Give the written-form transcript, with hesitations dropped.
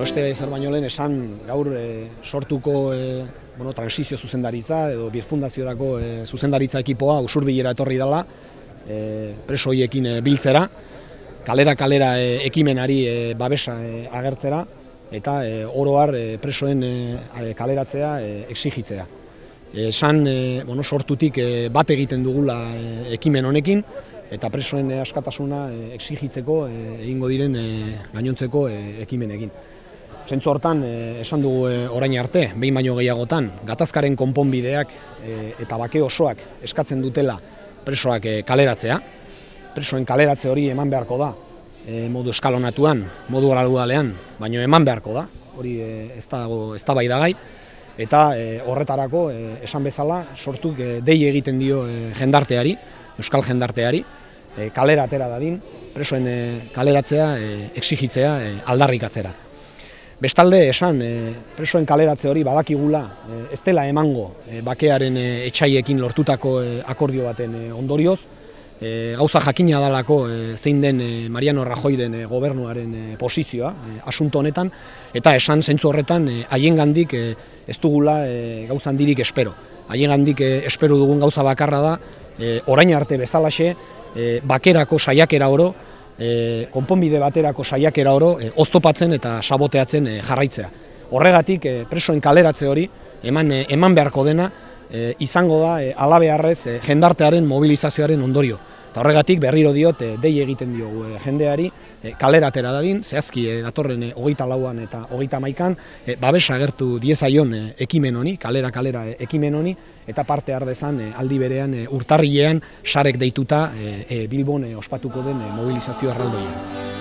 Beste zer baino lehen esan gaur sortuko transizio zuzendaritza edo birfundaziorako zuzendaritza ekipoa Usurbilera etorri dela preso horiekin biltzera, kalera ekimenari babesa agertzera eta oro har presoen kaleratzea exigitzea. Esan sortutik bat egiten dugula ekimen honekin eta presoen askatasuna exigitzeko egingo diren gainontzeko ekimenekin. Zentzu hortan, esan dugu orain arte, behin baino gehiagotan, gatazkaren konponbideak eta bake osoak eskatzen dutela presoak kaleratzea. Presoen kaleratze hori eman beharko da, modu eskalonatuan, modu gradualean, baino eman beharko da, hori ez da baidagai. Eta horretarako, esan bezala, sortuk dei egiten dio jendarteari, euskal jendarteari, kalera atera dadin, presoen kaleratzea, exigitzea, aldarrikatzera. Bestalde esan, presoen kaleratze hori badakigula ez dela emango bakearen etxaiekin lortutako akordio baten ondorioz, gauza jakina dalako zein den Mariano Rajoyren gobernuaren posizioa asunto honetan, eta esan zentzu horretan haiengandik ez dugula gauza handirik espero. Haiengandik espero dugun gauza bakarra da, orain arte bezalaxe, bakerako saiakera oro, konponbide baterako saiakera oro oztopatzen eta saboteatzen jarraitzea. Horregatik presoen kaleratze hori eman beharko dena izango da halabeharrez jendartearen mobilizazioaren ondorio. Eta horregatik berriro diot dei egiten diogu jendeari kalera atera dadin, zehazki datorren 24an eta 31an babesa agertu diezaion ekimen honi, kalera ekimen honi, eta parte har dezan aldi berean urtarrilean sarek deituta Bilbon ospatuko den mobilizazio erraldoia.